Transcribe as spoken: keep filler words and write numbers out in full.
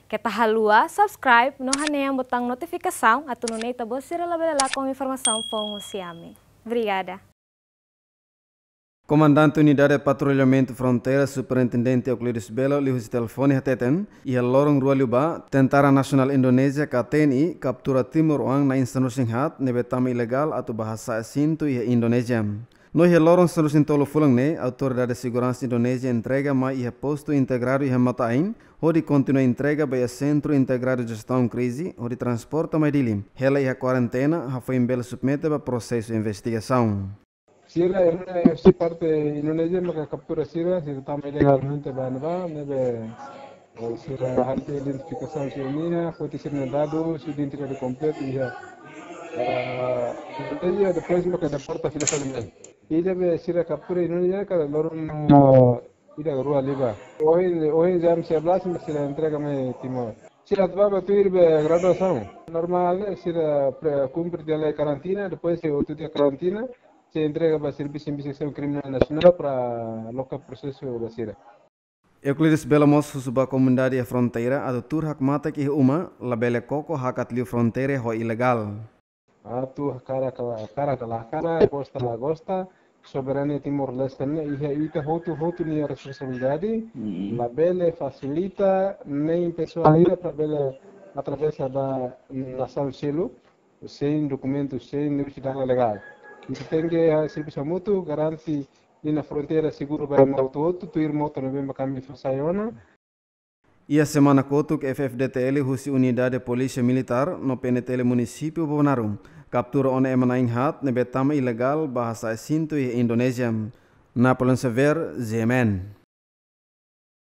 Keta haluha subscribe no hanehan butaun notifikasaun atu nune'e ita-boot sira labele lakon informasaun foun husi ami. Obrigada. Komandante Unidade Patrullamentu Fronteira, Superintendente Euclides Belo, liuhusi telefone hateten, iha loron rua liubá, Tentara Nasionál Indonézia ka T N I kaptura timoroan na'in sanulu-resin-haat ne'ebé tama ilegál atu bá hasa'e asentu iha Indonézia. No iha loron sanulu-resin-tolu fulan ne'e, autoridade seguransa Indonézia entrega mai iha postu integradu iha Mota-Ain, hodi kontinua entrega ba iha Sentru Integradu Jestaun Krize, hodi transporta mai Dili. Hela iha kuarentena, hafoin bele submete ba prosesu investigasaun. Sira, eh, husi parte Indonézia maka kaptura sira, sira tama ilegalmente ba ne'ebá, ne'ebé, eh, sira halo identifikasaun sira-nia, foti sira-nia dadus, identidade kompletu iha. Ah, Indonézia, depois maka deporta fila fali mai. Ida be sira kaptura Indonézia, kada loron, ah, ida rua liubá. Ohin, ohin jam sebelas, maka sira entrega mai Timor. Sira atu bá ba tuir be graduasaun. Normál, eh, sira pre-, kumpre tiha lai karantina, depois se outro dia karantina, sei entrega ba Servisu Investigasaun Kriminál Nasionál para loka prosesu ba sira. Euclides Belo mós husu ba komunidade iha fronteira atu tuur hakmatek iha uma, labele koko hakat liu fronteira ho ilegál. Atu hakarak ka la, hakarak ka la hakarak, gosta la gosta, soberania Timor-Leste ne'e iha ita hotu-hotu nia responsabilidade, labele fasilita, nein pesoál ida para bele atravesa ba nasaun seluk, sein dokumentu, sein sidadaun legál. Ita tenke, ah, servisu hamutuk, garante liña fronteira seguru ba ema hotu-hotu, tuir mota ne'ebé mak ami fó sai ona. Iha semana kotuk, F-FDTL husi Unidade Polísia Militár no P N T L Munisípiu Bobonaro kaptura ona ema na'in-haat ne'ebé tama ilegál bá hasa'e asentu iha Indonézia. Napoleon Xavier, G M N.